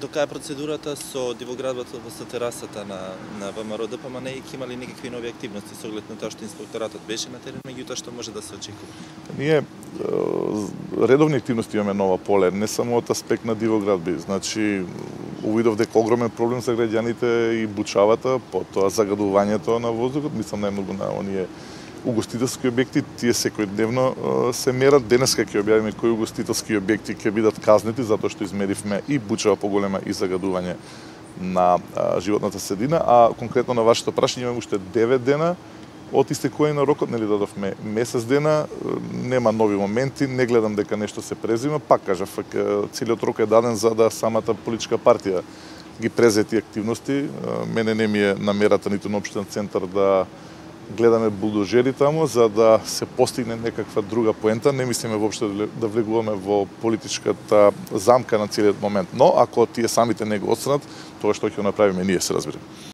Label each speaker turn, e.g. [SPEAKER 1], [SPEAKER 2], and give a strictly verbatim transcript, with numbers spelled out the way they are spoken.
[SPEAKER 1] до кај процедурата со дивоградбата во терасата на на ВМРО ДПМН и ќе имали некакви нови активности со оглед на тоа што инспекторатот беше на терен, меѓутоа што може да се очекува?
[SPEAKER 2] Ние редовни активности имаме нова поле, не само од аспект на дивоградби. Значи, увидов дека огромен проблем за граѓаните и бучавата, потоа загадувањето на воздухот, мислам најмногу на оние угостителски објекти, тие секојдневно се мерат. Денеска ќе објавиме кои угостителски објекти ќе бидат казнети затоа што измеривме и бучава поголема и загадување на животната средина, а конкретно на вашето прашање имаме уште девет дена од истекување на рокот, нели дадовме месец дена, нема нови моменти, не гледам дека нешто се презима, пак кажав, целиот рок е даден за да самата политичка партија ги презети активности. Мене не ми е намерата ниту на општен центар да гледаме булдожери таму за да се постигне некаква друга поента. Не мислиме воопшто да влегуваме во политичката замка на целиот момент. Но ако тие самите не го отстранат, тоа што ќе направиме ние, се разбира.